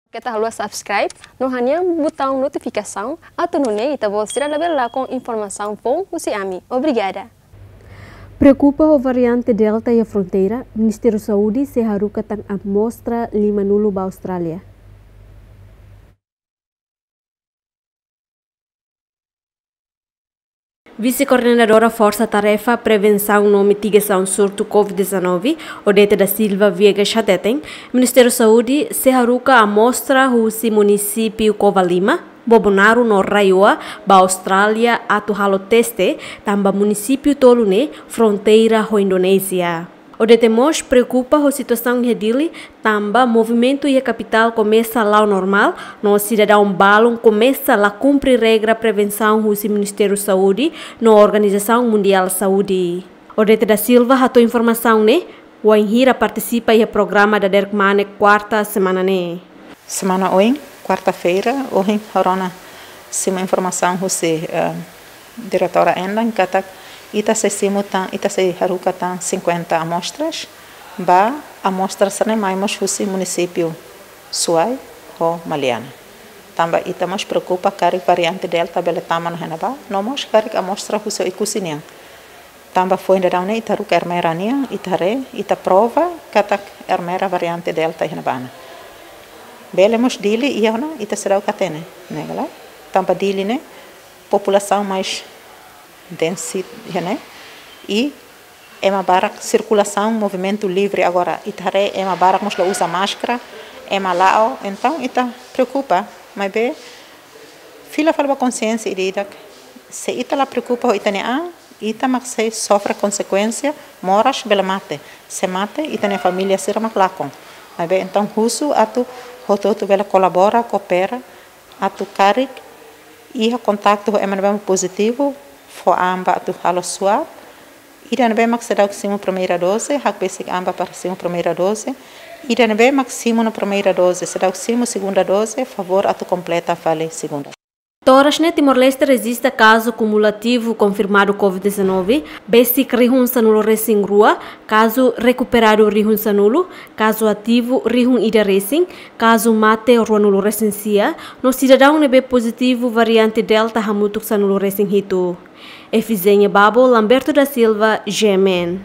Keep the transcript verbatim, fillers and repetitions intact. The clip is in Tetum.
Keta haluha subscribe no hanehan butaun notifikasaun atu nune'e ita-boot sira labele lakon informasaun foun husi ami. Obrigada. Preokupa ho variante Delta iha fronteira, Ministériu Saúde sei haruka tan amostra lima-nulu ba Austrália. Vise-Koordenadora Forsa Tarefa Prevensaun no Mitigasaun Surtu covid dezanove, Odete da Silva Viegas hateten, Ministériu Saúde sei haruka amostra husi munisípiu Covalima, Bobonaro no RAEOA ba Austrália atu halo teste, tanba munisípiu tolu ne'e fronteira ho Indonézia. Odete mós preokupa ho situasaun iha Dili, tanba movimentu iha kapitál komesa la'o normál, no sidadaun balun komesa la kumpre regra prevensaun husi Ministériu Saúde no Organizasaun Mundiál Saúde. Odete da Silva hato'o informasaun ne'e wainhira partisipa iha programa Dader Kmanek kuarta semana ne'e. Semana oin, kuarta-feira, ohin ha'u rona simu informasaun husi, eh, diretora Endan katak ita sei simu tan, ita sei haruka tan cinquenta amostras, ba amostras ne'e mai mós husi munisípiu Suai ho Maliana. Tanba ita mós preokupa karik variante Delta bele tama ona iha ne'ebá, no mós karik amostra husi Oekusi nian. Tanba foin daudaun ne'e ita haruka Ermera nian, ita haree, ita prova katak Ermera variante Delta iha ne'ebá ona. Bele mós Dili iha ona, ita seidauk hatene, ne'e ka lae? Tanba Dili ne'e populasaun mais densi iha ne'e, i ema barak sirkulasaun, movimentu livre agora, ita haree ema barak mós la uza máskara, ema la'o, entaun ita preokupa, maibé fila fali ba konsiénsia ida-idak, se ita la preokupa ho ita-nia an, ita mak sei sofre konsekuénsia, moras bele mate, se mate, ita-nia família sira mak lakon. Maibé entaun husu atu hotu-hotu bele kolabora, koopera, atu karik iha kontaktu ho ema ne'ebé mak pozitivu, fó an ba atu halo swab, ida ne'ebé mak seidauk simu primeira dose, hakbesik an ba para simu primeira dose, ida ne'ebé mak simu ona primeira dose, seidauk simu segunda dose, favór atu kompleta fali segunda. To'o oras ne'e Timor-Leste rejista kazu kumulativu konfirmadu covid dezanove besik rihun sanulu-resin-rua, kazu rekuperadu rihun sanulu, kazu ativu rihun ida-resin, kazu mate ruanulu-resin-sia, no sidadaun ne'ebé pozitivu variante Delta hamutuk sanulu-resin-hitu. Efizénia Babo, Lamberto da Silva, G M N.